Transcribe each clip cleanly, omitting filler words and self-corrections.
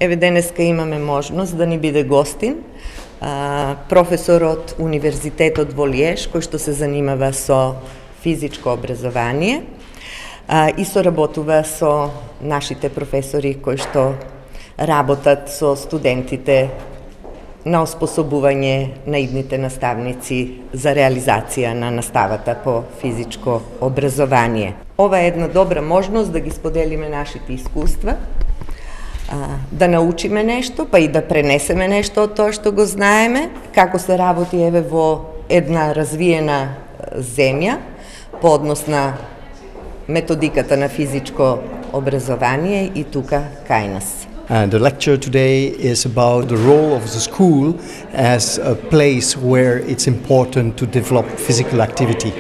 Еве денеска имаме можност да ни биде гостин професор од Универзитетот во Лиеж, кој што се занимава со физичко образование и соработува со нашите професори кои што работат со студентите на оспособување на идните наставници за реализација на наставата по физичко образование. Ова е една добра можност да ги споделиме нашите искуства, да научиме нешто, па и да пренесеме нешто од тоа што го знаеме, како се работи еве во една развиена земја по однос на методиката на физичко образование и тука кај нас. The lecture today is about the role of the school as a place where it's important to develop physical activity.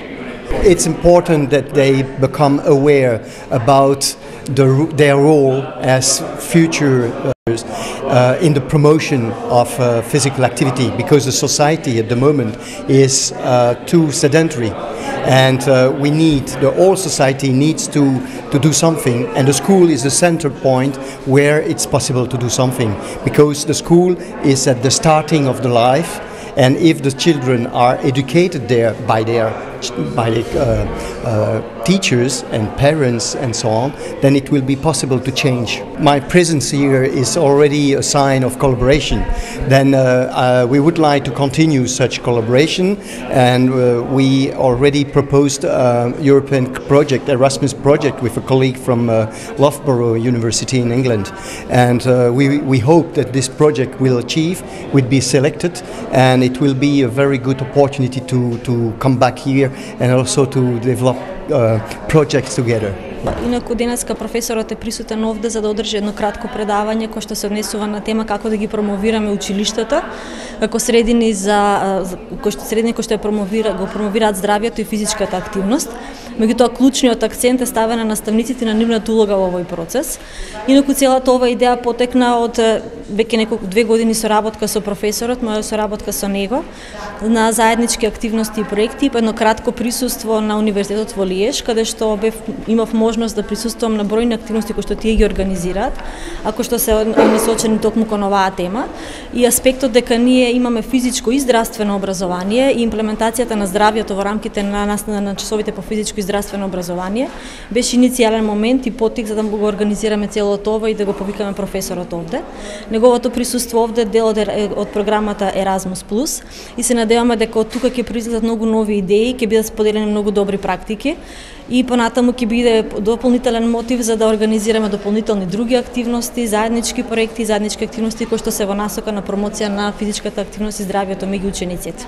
It's important that they become aware about their role as future in the promotion of physical activity, because the society at the moment is too sedentary, and we need, the whole society needs to do something, and the school is the center point where it's possible to do something, because the school is at the starting of the life, and if the children are educated there by their teachers and parents and so on, then it will be possible to change. My presence here is already a sign of collaboration. Then we would like to continue such collaboration, and we already proposed a European project, Erasmus project, with a colleague from Loughborough University in England, and we hope that this project will be selected, and it will be a very good opportunity to come back here and also to develop projects together. Инаку денеска професорот е присутен овде за да одржи едно кратко предавање кој што се однесува на тема како да ги промовираме училиштата како средини кои што го промовираат здравјето и физичката активност. Меѓутоа клучниот акцент е ставен на наставниците на нивната улога во овој процес. Инаку целата ова идеја потекна од веќе 2 години соработка со професорот, моја соработка со него на заеднички активности и проекти, едно кратко присуство на Универзитетот во Лиеж, каде што имав можност да присуствувам на бројни активности кои што тие ги организираат, ако што се насочени токму кон оваа тема, и аспектот дека ние имаме физичко и здравствено образование и имплементацијата на здравјето во рамките на часовите по физичко и здравствено образование беше иницијален момент и потик за да го организираме целото ова и да го повикаме професорот овде. Неговото присуство овде дел од програмата Erasmus+, и се надеваме дека од тука ќе произлезат многу нови идеи, ќе бидат споделени многу добри практики и понатаму ќе биде дополнителен мотив за да организираме дополнителни други активности, заеднички проекти, заеднички активности кои што се во насока на промоција на физичката активност и здравјето меѓу учениците.